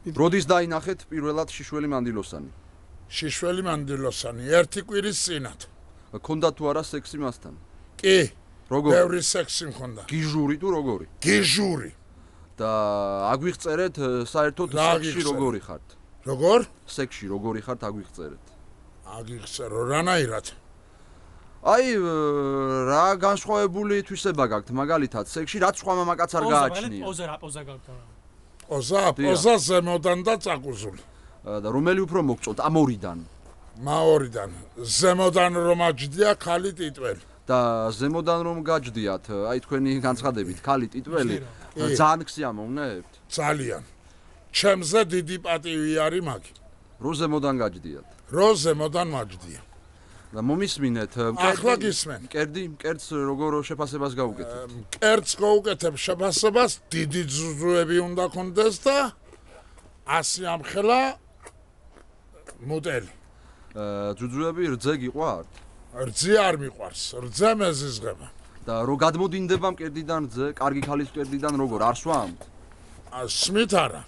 როდის დაინახეთ პირველად შიშველი მანდილოსანი? შიშველი მანდილოსანი ერთი კვირის წინათ. ქონდა თუ არა სექსი მასთან? კი. როგორ? ბევრი სექსი მქონდა. გიჟური თუ როგორი? გიჟური. და აგვიღწერეთ საერთოდ სექსში როგორი ხართ? როგორ? სექსში როგორი ხართ აგვიღწერეთ? აგიხსერო რანაირად? აი რა განსხვავებული თვისება გაქვთ მაგალითად სექსში რაც სხვა მამაკაც არ გააჩნია. პოზა გაქვთ. პოზა ზემოდან და წაკუზული. და რომელი უფრო მოგწონთ ამ ორიდან? მაორიდან. ზემოდან რომ აჯდია ქალი ტიტველი. და ზემოდან რომ გაჯდიათ, აი თქვენი განცხადებით, ქალი ტიტველი ძალიან ქსიამოვნებთ? ძალიან. ჩემზე დიდი პატივი არის მაგ. რო ზემოდან გაჯდიათ? რო ზემოდან მაჯდია. და მომისმინეთ, ახლა გისმენ. მკერდს როგორ შეფასებას გაუკეთებთ? მკერდს გაუკეთებ შეფასებას, დიდი ძუძუები უნდა კონდეს და 100 ამხელა მუტელი. ძუძუები რძე გიყვართ? რძე არ მიყვარს, რძე მეზიზღება. და რო გადმოდინდება მკერდიდან რძე, კარგი ქალის მკერდიდან როგორ არ სვამთ? სმით არა.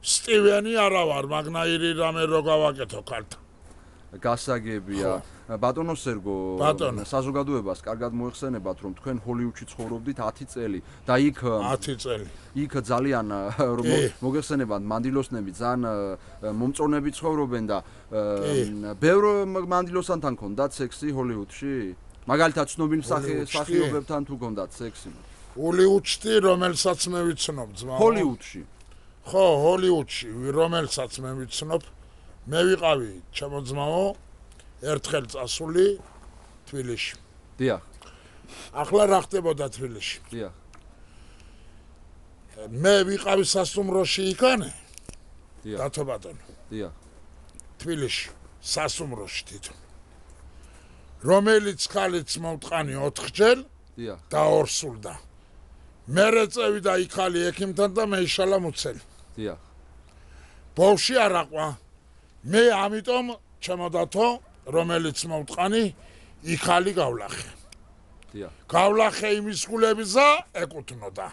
სტივენი არა ვარ, მაგნაირი რამე რო გავაკეთო ქალთან. გასაგებია. ბატონო სერგო, საზოგადოებას კარგად მოეხსენებათ, რომ თქვენ ჰოლივუდში ცხოვრობდით 10 წელი და იქ 10 წელი. იქ ძალიან მოგეხსენებათ მანდილოსნები, ძალიან მომწონები ცხოვრობენ და ბევრ მანდილოსანთან ქონდათ სექსი ჰოლივუდში? მაგალითად ცნობილ მსახიობებთან თუ ქონდათ სექსი? ჰოლივუდში, რომელსაც მე ვიცნობ ძმაო. ჰოლივუდში. ხო, ჰოლივუდში, რომელსაც მე ვიცნობ. მე ვიყავი ჩემო ძმაო ერთხელ წასული თბილისში. დიახ. ახლა რა ხდებოდა თბილისში? დიახ. მე ვიყავი სასტუმროში იქანე. დიახ. დათო ბატონო. დიახ. თბილისში სასტუმროში თვითონ. რომელიც ხალიც მომტყანი 4ჯერ დიახ. დაორსულდა. მერე წევიდა იქალი ექიმთან და მეიშალა მუცელი. დიახ. ბოლში არაყვა. მე ამიტომ ჩემოდათო რომელიც მომტყანი იქალი გავლახე. დიახ. გავლახე იმის გულებისა ეკუთვნოდა.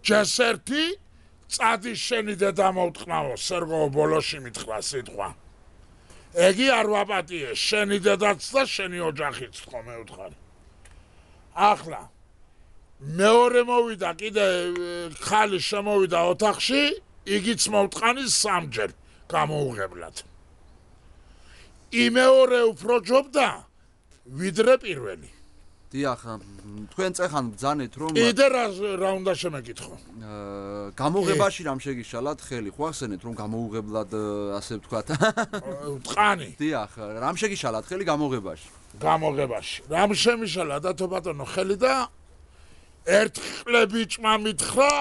ჯესერთი წადი შენი დედა მომტყნაო სერგო ბოლოში მითხრა სიტყვა. ეგი არ ვაპატიე შენი დედაც და შენი ოჯახიც თქო მე ვთხარი. ახლა მეორე მოვიდა კიდე ხალი შემოვიდა ოთახში იგიც მომტყანი 3ჯერ გამოუღებლად. იმეორე უფრო ჯობდა ვიდრე პირველი. დიახ, თქვენ წეხან ბძანეთ რომ კიდე რა უნდა შემეკითხო? გამოუღებაში რამ შეგიშალათ ხელი? ხო ახსენეთ რომ გამოუღებლად ასე ვთქვათ. ტყანი. დიახ, რამ შეგიშალათ ხელი გამოუღებაში? გამოუღებაში. რამ შემიშალა დათო ბატონო ხელი და ერთხელ ბიჭმა მითხრა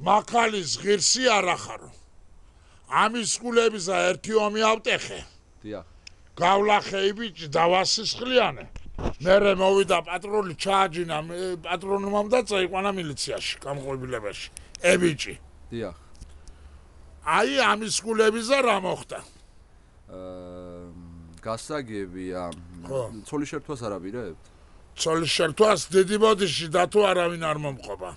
მაკალის ღირსი არ ახარო. ამის გულებისა ერთი ომი ავტეხე. დიახ. გავლახე ბიჭი დავასისხლიანე. მერე მოვიდა პატრული ჩააჯინა პატრონმა და წაიყვანა მილიციაში, გამყვებილებაში. ბიჭი. დიახ. აი ამის გულებისა რა მოხდა? გასაგებია. ცოლის შერთვას არ აპირებთ? ცოლის შერთვას დიდი ბოდიში დათო არავინ არ მომყობა.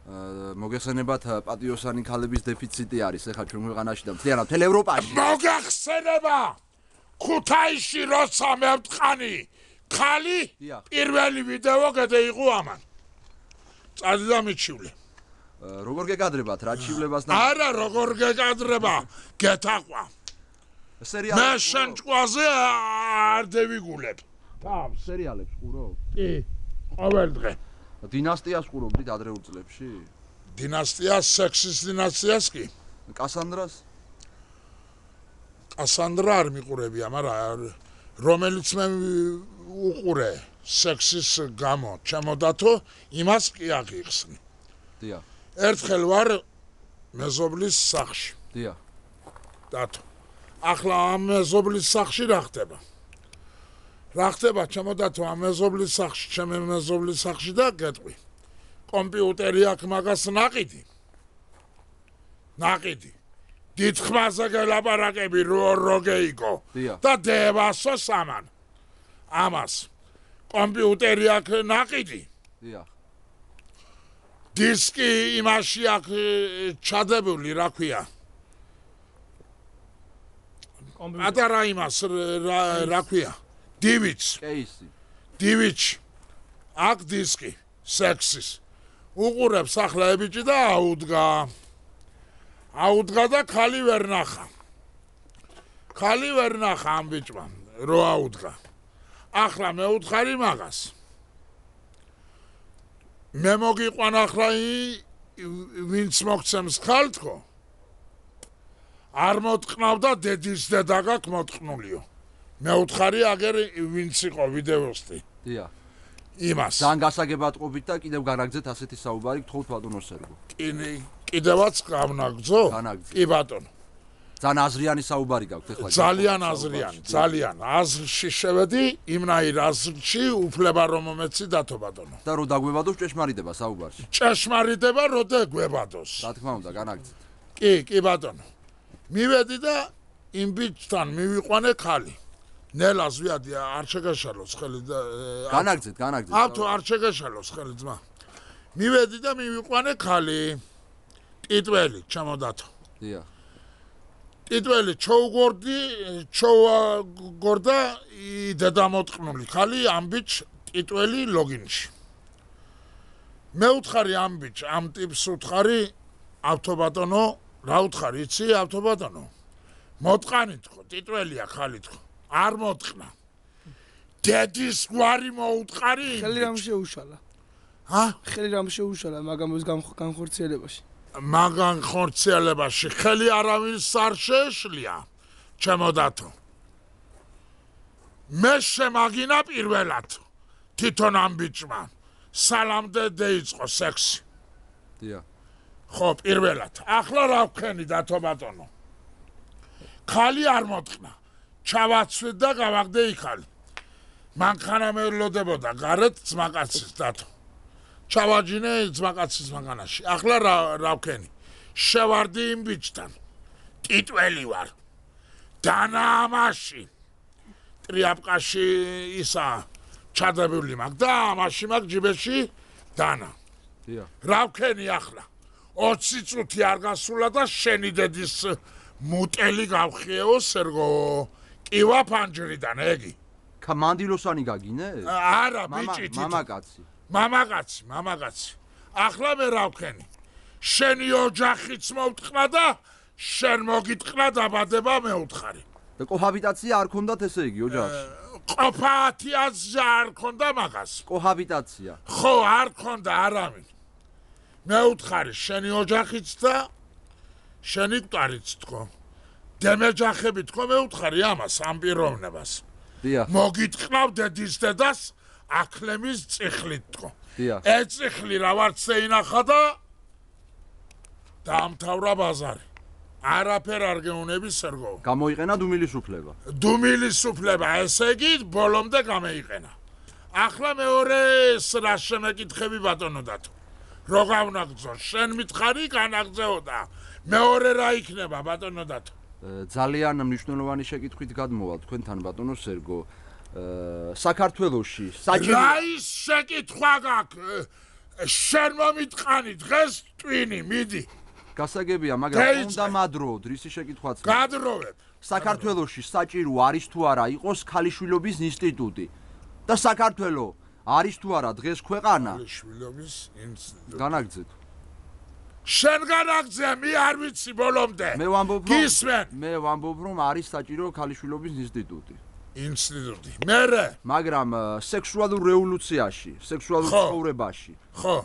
მოგეხსენებათ პატიოსანი ქალების დეფიციტი არის ახლა ჩვენ ქვეყანაში და მთლიანად მთელ ევროპაში. მოგეხსენება ქუთაისში როცა მე ვტყანი ხალი პირველი ვიდეო გადაიღო ამან. წადი და მიჩივლე. როგორ გეკადრებათ რა ჩივლებას და არა როგორ გეკადრება გეთაყვა. მე შენ ჭკვაზე არ დევიგულებ. თავს სერიალებს ყურობ? კი, ყოველ დღე. დინასტიას ყურობდით ადრეულ წლებში? დინასტიას, სექსის დინასტიას კი. კასანდრას? კასანდრა არ მიყურებია, მაგრამ რომელიც მე უყურე სექსის გამო, ჩემოდათო იმას კი აღიხსნი. დიახ. ერთხელ ვარ მეზობლის სახლში. დიახ. დათო. ახლა ამ მეზობლის სახლში რა ხდება? რა ხდება ჩემოდათო ამ მეზობლის სახლში, ჩემი მეზობლის სახლში და გეტყვი. კომპიუტერი აქვს მაგას ნაყიდი. ნაყიდი. დიდხმაზე გელაპარაკები როგეიგო და დევასო სამან. ამას კომპიუტერი აქვს ნაყიდი. დიახ. დისკი იმაში აქ ჩადებული, რა ქვია? პატარა იმას რა ქვია? დივიც. კეისი. დივიც. აქ დისკი სექსის. უყურებს ახლა ებიჭი და აუდგა და ხალი ვერ ნახა. ხალი ვერ ნახა ამ ბიჭმა, რო აუდგა. ახლა მე უთხარი მაგას. მე მოგიყვან ახლა ვინც მოგცემს ხალთქო. არ მოტყნავდა დედის დედა გაქვს მოტყნულიო. მე უთხარი აგერ ვინც იყო ვიდეოსტი. დიახ. იმას. ძალიან გასაგებად ყოფით და კიდევ განაგძეთ ასეთი საუბარი გთხოვთ ბატონო სერგო. კიდევაც გამნაგძო? განაგძეთ. კი ბატონო. ძალიან აზრიანი საუბარი გაქვთ ეხლა. ძალიან აზრიანი, ძალიან. აზრში შევედი, იმნაირ აზრში უფლება რომ მომეცი დათო ბატონო. და რო დაგვებადოს ჭეშმარიტება საუბარში. ჭეშმარიტება რო დაგვებადოს. რა თქმა უნდა, განაგძეთ. კი ბატონო. მივედი და იმ ბიჭთან მივიყვანე ხალი. ნელას ვიადი, არ შეგაშალოს ხელი და განაგძეთ. ათო არ შეგაშალოს ხელი ძმა. მივედი და მივიყვანე ხალი. ტიტველი ჩამოდათო. დიახ. ტიტველი ჩოუგორდა დედა მოტყნული ხალი ამ ბიჭ ტიტველი ლოგინში. მე უთხარი ამ ბიჭ, ამ ტიპს უთხარი ავტობატონო, რა უთხარი იცი ავტობატონო? მოტყანი თქო, ტიტველია ხალი თქო. არ მოტყნა. დედის გვარი მოუთხარი? ხელი რამ შეუშალა? ხელი რამ შეუშალა მაგამის განხორციელებაში? მაგან ხორციელებაში ხელი არავის არ შეეშლია, ჩემოდათო. მე შემაგინა პირველად თვითონ ამ ბიჭმა. სალამდე დაიწყო სექსი. დიახ. ხო, პირველად. ახლა რა ვქენი დათო ბატონო? ხალი არ მოტყნა. ჩავაცვით და გავაგდე იქალი. მანქანა მელოდებოდა გარეთ ძმაკაცის დათო. ჩავაჯინე ძმაკაცის მანქანაში. ახლა რა ვქენი? შევარდი იმ ბიჭთან. ტიტველი ვარ. დანამაში. ტრიაპკაში ისა ჩადებული მაგ და ამაში მაგ ჯიბეში დანა. დიახ. რა ვქენი ახლა? 20 წუთი არ გასულა და შენი დედის მუტელი გავხიეო სერგო. კივა ფანჯრიდან ეგი. მანდილოსანი გაგინე? არა, ბიჭი მამაკაცი. მამაკაცი. ახლა მე რა ვქენი? შენი ოჯახიც მოვტყნა და შენ მოგიტყნა დაბადება მე უთხარი. და კოჰაბიტაცია არ ქონდათ ესე იგი ოჯახში? ყოფათიაზა არ ქონდა მაგას. კოჰაბიტაცია. ხო, არ ქონდა არავინ. მე უთხარი შენი ოჯახიც და შენი მკვდარიც თქო. დემეჯახები თქო მე უთხარი ამას ამ პიროვნებას. დიახ. მოგიტყნავ დედის დედას აკლემის წიხლით თქო. დიახ. ეწიხლი რა ვარცე ინახა და დაამთავრა ბაზარი. არაფერ არ გეუნები სერგო. გამოიყენა დუმილისუფლება. დუმილისუფლება, ესე იგი ბოლომდე გამოიყენა. ახლა მეორეს რა შემეკითხები ბატონო დათო. რო გავნაგძო, შენ მითხარი განაგძეოდა. მეორე რა იქნება ბატონო დათო? ძალიან მნიშვნელოვანი შეკითხვით გადმოვალ თქვენთან ბატონო სერგო. საქართველოში საჭირო რა ის შეკითხვა გაქვს? შენ მომიტყანი დღეს ტვინი, მიდი. გასაგებია, მაგრამ უნდა მადროდ, რისი შეკითხვაც. გადროვებ. საქართველოში საჭირო არის თუ არა იყოს ქალიშვილობის ინსტიტუტი. და საქართველო არის თუ არა დღეს ქვეყანა? ქალიშვილობის ინსტიტუტი. განაგძეთ. შენ განაგძე, მე არ ვიცი ბოლომდე. მე ვამბობ, რომ არის საჭირო ქალიშვილობის ინსტიტუტი. ინსტიტუტი. მერე, მაგრამ სექსუალურ რევოლუციაში, სექსუალურ ცხოვრებაში,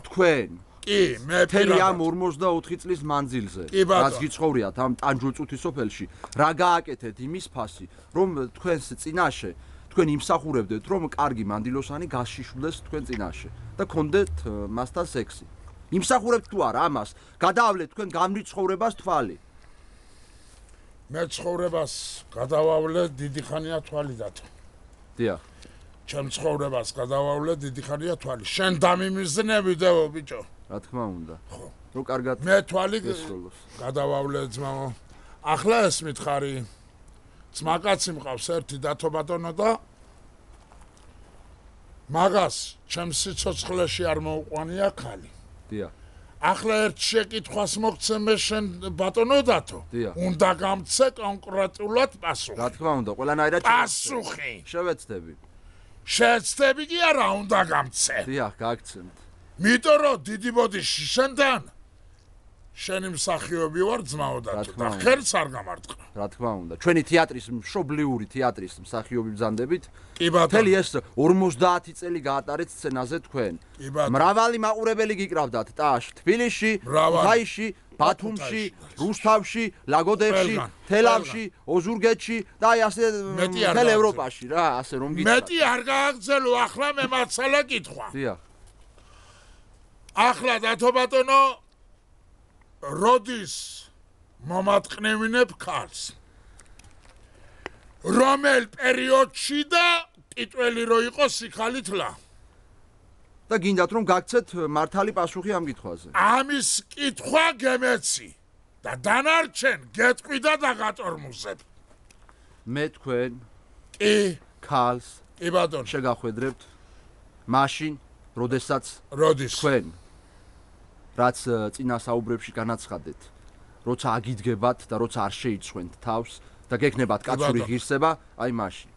თქვენ კი, მე მთელი ამ 44 წლის მანძილზე, რაც გიცხოვრიათ ამ ტანჯულწუთის სოფელში, რა გააკეთეთ იმის ფასი, რომ თქვენს წინაშე თქვენ იმსახურებდეთ, რომ კარგი მანდილოსანი გაშიშვლდეს თქვენ წინაშე და გქონდეთ მასთან სექსი. იმსახურებთ თუ არა ამას? გადაავლეთ თქვენ გამრით ცხოვრებას თვალი. მე ცხოვრებას გადავავლე დიდი ხანია თვალი დათო. დიახ. ჩემ ცხოვრებას გადავავლე დიდი ხანია თვალი. შენ დამიმიზნებიდეო ბიჭო. რა თქმა უნდა. ხო. რო კარგად მე თვალი გადავავლე ძმაო. ახლა ეს მითხარი. ძმაკაცი მყავს ერთი დათო ბატონო და მაგას ჩემ სიცოცხლეში არ მოუყვანია ხალი. დიახ. ახლა ერთ შეკითხვას მოგცე მე შენ ბატონო დათო. უნდა გამცე კონკრეტულად პასუხი. რა თქმა უნდა, ყველანაირად პასუხი. შევეცდები. შეეცდები კი არა, უნდა გამცე. დიახ, გაგცემთ. იმიტომ რომ დიდი ბოდიში შენთან შენი მსახიობი ვარ ძმაო დათო და ხელს არ გამარტყა. რა თქმა უნდა, ჩვენი თეატრის მშობლიური თეატრის მსახიობი ბრძანდებით. კი ბატონო. მთელი ეს 50 წელი გაატარეთ სცენაზე თქვენ. კი ბატონო. მრავალი მაყურებელი გიკრავდათ ტაშ, თბილისში, ქუთაისში, ბათუმში, რუსთავში, ლაგოდეხში, თელავში, ოზურგეთში და აი ასე მთელ ევროპაში რა, ასე რომ გითხრათ. მეტი არ გააგრძელო, ახლა მე მაცალა კითხვა. დიახ. ახლა დათო ბატონო როდის მომატყნევინებ ქალს? რომელ პერიოდში და ტიტველი რო იყო სიქალითლა? და გინდათ რომ გაგცეთ მართალი პასუხი ამ კითხვაზე. ამის კითხვა გემეცი და დანარჩენ გეტყვი და დაგატორმუზებ. მე თქვენ კი ქალს კი ბატონო შეგახვედრებთ მაშინ, როდესაც როდის თქვენ რაც წინა საუბრებში განაცხადეთ, როცა აგიდგებათ და როცა არ შეიცხვენთ თავს და გექნებათ კაცური ღირსება, აი მაშინ.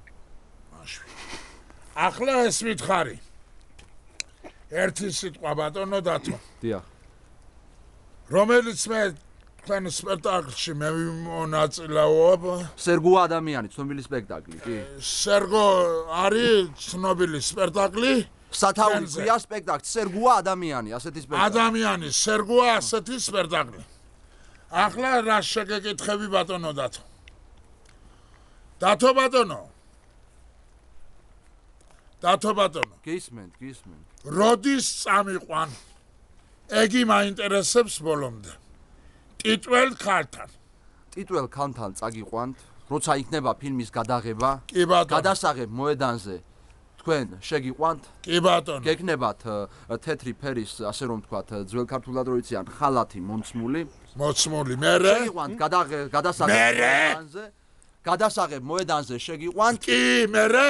ახლა ეს მითხარი. ერთი სიტყვა ბატონო დათო. დიახ. რომელიც მე თქვენ სპექტაკლში მე მონაწილეობ. სერგო ადამიანი, ცნობილი სპექტაკლი, კი? სერგო არის ცნობილი სპექტაკლი. სათაური ქვია სპექტაკლი, სერგოა ადამიანი, ასეთი სპექტაკლი. ადამიანი, სერგოა ასეთი სპექტაკლი. ახლა რა შეგეკითხები ბატონო დათო? დათო ბატონო. დათო ბატონო. გისმენთ. როდის წამიყვან? ეგი მაინტერესებს ბოლომდე. ტიტველ ქალთან. ტიტველ ქალთან წაგიყვანთ, როცა იქნება ფილმის გადაღება, კი ბატონო. გადასაღებ მოედანზე თქვენ შეგიყვანთ. კი ბატონო. გეკნებათ თეთრი ფერის, ასე რომ ვთქვათ, ძველ ქართულად რო იციან, ხალათი მომცმული. მერე შეგიყვანთ გადასაღებ მოედანზე. გადასაღებ მოედანზე შეგიყვანთ. კი, მერე